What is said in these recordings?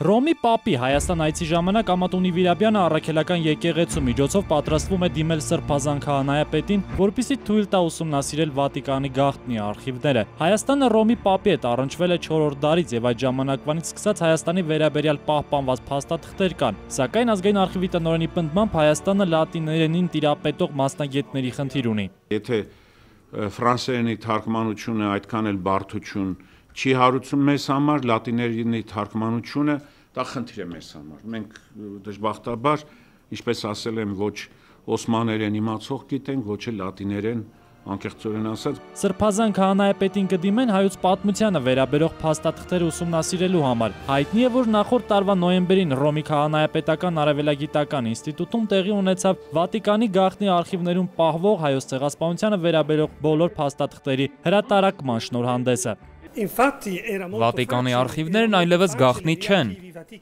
Ռոմի Պապի Հայաստան այցի ժամանակ Ամատունի Վիրաբյանը առաքելական եկեղեցու միջոցով պատրաստվում է դիմել Սրբազան քահանայապետին, որպեսզի թույլ տա ուսումնասիրել Վատիկանի գաղտնի արխիվները։ Հայաստանը Ռոմի Պապի հետ առնչվել է 4-րդ դարից եւ այդ ժամանակվանից սկսած Հայաստանի վերաբերյալ պահպանված փաստաթղթեր կան։ Սակայն ազգային արխիվի տնօրենի պնդմամբ Հայաստանը լատիներենին տիրապետող մասնագետների խնդիր ունի։ Եթե ֆրանսերենի թարգմանությունը այդքան էլ բարդություն չի հարուցում մեզ համար, լատիներենի թարգմանությունը դա խնդիր է մեզ համար։ Մենք դժբախտաբար, ինչպես ասել եմ, ոչ օսմաներեն իմացող գիտենք, ոչ էլ լատիներեն, անկեղծորեն ասած։ Սրբազան քահանայապետին կդիմեն հայոց պատմությանը վերաբերող փաստաթղթերը ուսումնասիրելու համար։ Հայտնի է, որ նախորդ տարվա նոյեմբերին Ռոմի քահանայապետական արևելագիտական ինստիտուտում տեղի ունեցավ Վատիկանի գաղտնի արխիվներում պահվող հայոց ցեղասպանությանը վերաբերող բոլոր փաստաթղթերի հրատարակման շնորհանդեսը։ Վատիկանի արխիվներն այլևս գաղտնի չեն։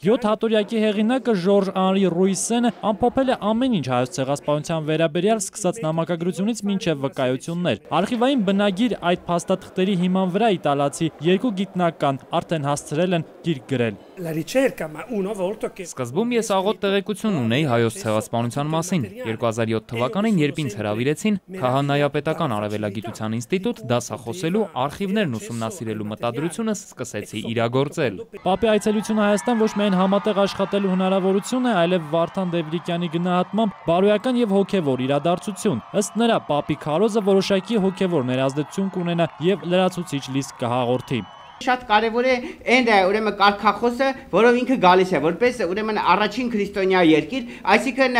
7 հատորյակի հեղինակը Ժորժ Անրի Ռուիսենը ամփոփել է ամեն ինչ հայոց ցեղասպանության վերաբերյալ սկսած նամակագրությունից մինչև վկայություններ։ Արխիվային բնագիր այդ փաստաթղթերի հիման վրա իտալացի 2 գիտնական արդեն հասցրել են գիրք գրել։ Սկզբում ես աղոտ տեղեկություն ունեի հայոց ցեղասպանության մասին։ 2007 թվականին, երբ ինձ հրավիրեցին Քահանայապետական արևելագիտության ինստիտուտ դասախոսելու, արխիվներն ուսումնասիրելու մտադրությունը սկսեցի իրագործել։ Պապի այցելությունը Հայաստան ոչ միայն համատեղ աշխատելու հնարավորություն է, այլև Վարդան Դևրիկյանի գնահատմամբ բարոյական եւ հոգեվոր իրադարձություն։ Ըստ նրա, Պապի քարոզը որոշակի հոգեվոր ներազդեցություն կունենա եւ լրացուցիչ լիսկ կհաղորդի։ Շատ կարևոր է այն ուրեմն կարգախոսը, որով ինքը գալիս է, որպես ուրեմն առաջին քրիստոնյա երկիր, այսինքն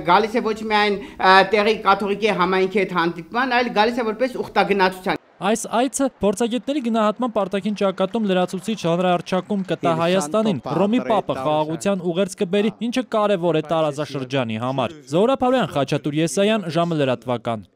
գալիս է ոչ միայն տեղի կաթողիկի համայնքի հետ հանդիպման, այլ գալիս է որպես ուխտագնացության։ Այս այցը փորձագետների գնահատմամբ արտաքին ճակատում լրացուցիչ հանրահռչակում կտա Հայաստանին, Ռոմի Պապը խաղաղության ուղերձ կբերի, ինչը կարևոր է տարածաշրջանի համար։ Զոհրաբ Հարոյան, Խաչատուր Եսայան, ժամը լրատվական։